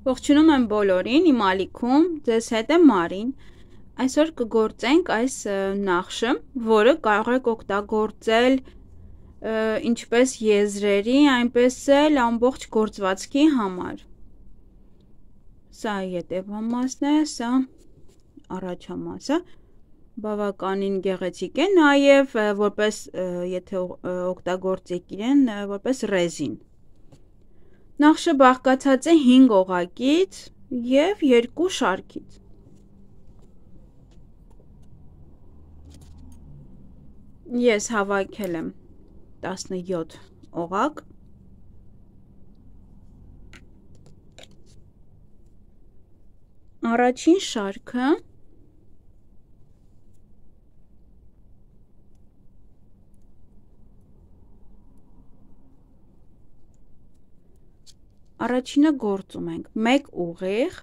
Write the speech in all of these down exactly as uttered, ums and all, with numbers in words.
Ողջունում եմ բոլորին, իմ ալիքում, ձեզ հետ է Մարին։ Այսօր կգործենք այս նախշը, որը կարող եք օգտագործել ինչպես եզրերի, այնպես էլ ամբողջ գործվածքի համար։ Սա ետևամասն է, սա առաջամասը, բավականին գեղեցիկ է, նաև որպես եթե օգտագործեք իրեն, որպես ռեզին։ Նախշը բաղկացած է հինգ օղակից և երկու շարքից։ Ես հավաքել եմ տասնյոթ օղակ։ Առաջին շարքը Առաջինը գործում ենք մեկ ուղիղ,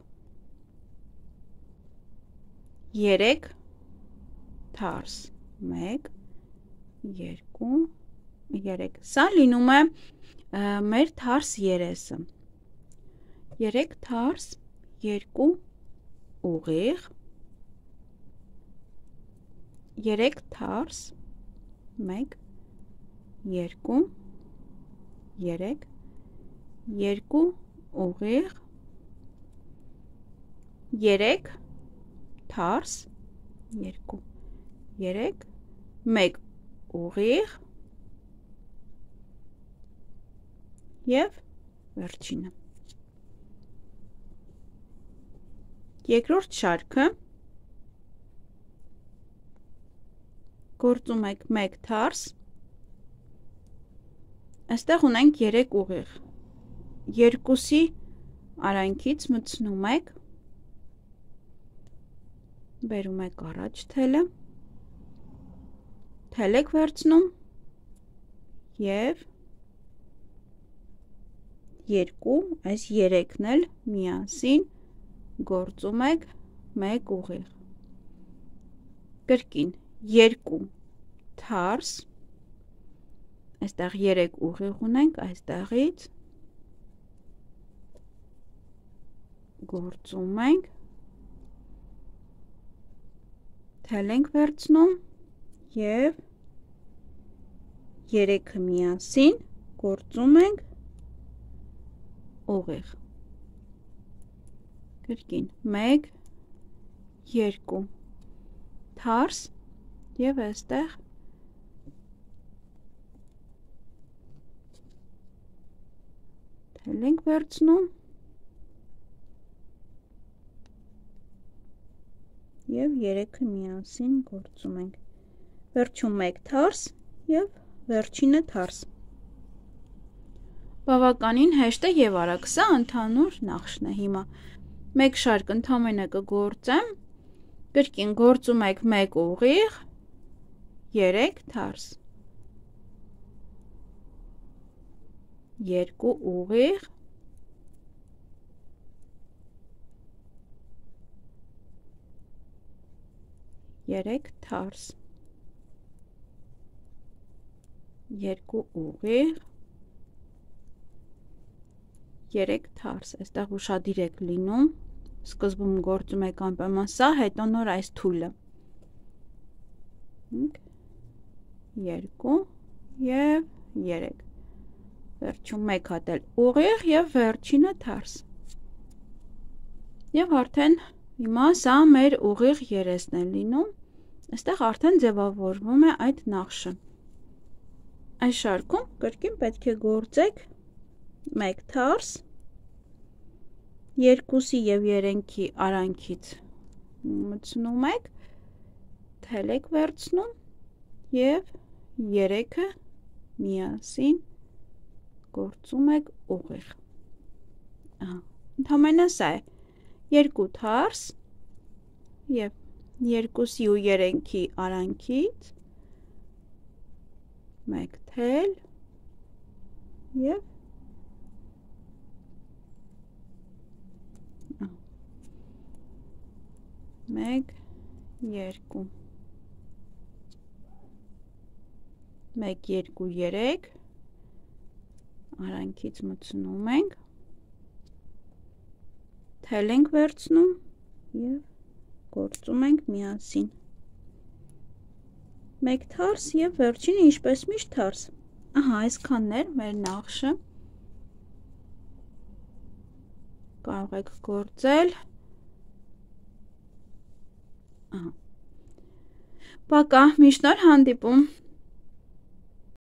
երեք թարս, մեկ, երկու, երեք, սա լինում է մեր թարս երեսը, երեք թարս, երկու ուղիղ, երեք թարս, մեկ, երկու, երեք, երկու ուղիղ, երեք թարս, երկու, երեք, մեկ ուղիղ և վերջինը։ Երկրորդ շարքը գործում եք մեկ թարս, այստեղ ունենք երեք ուղիղ, երկուսի արանքից մտցնում եք, բերում եք առաջ թելը, թել եք վերցնում և երկու, այս երեքն էլ միասին գործում եք մեկ ուղիղ, կրկին երկու թարս, այստեղ երեք ուղիղ ունենք, այստեղից գործում ենք, թել ենք վերցնում և երեքը միասին գործում ենք ուղիղ, կրկին մեկ, երկու թարս և այստեղ թել ենք վերցնում և երեքը միասին գործում ենք, վերջում մեկ թարս և վերջինը թարս։ Բավականին հեշտ է և արագ, սա ընդհանուր նախշն է։ Հիմա մեկ շարք ընդամենը կգործեմ, կրկին գործում եք մեկ ուղիղ, երեք թարս, երկու ուղիղ, երեք թարս, երկու ուղիղ, երեք թարս, այստեղ ուշադիր եք լինում, սկզբում գործում եք անպայման սա, հետո նոր այս թույլը, երկու և երեք, վերջում մեկ հատ էլ ուղիղ և վերջինը թարս, և արդեն հիմա սա մեր ուղիղ երեսն է լինում, այստեղ արդեն ձևավորվում է այդ նախշը։ Այս շարքում կրկին պետք է գործեք մեկ թարս, երկուսի և երեքի արանքից մտցնում եք, թել եք վերցնում և երեքը միասին գործում եք ուղիղ։ Ընդամենը սա է, երկու թարս և երկուսի ու երեքի արանքից մեկ թել և մեկ, երկու, մեկ, երկու, երեք, արանքից մտցնում ենք, թել ենք վերցնում և գործում ենք միասին։ Մեկ թարս և վերջինը ինչպես միշտ թարս։ Ահա, այսքանն էր մեր նախշը։ Կարող եք գործել։ Ահա։ Պակա, միշտ նոր հանդիպում։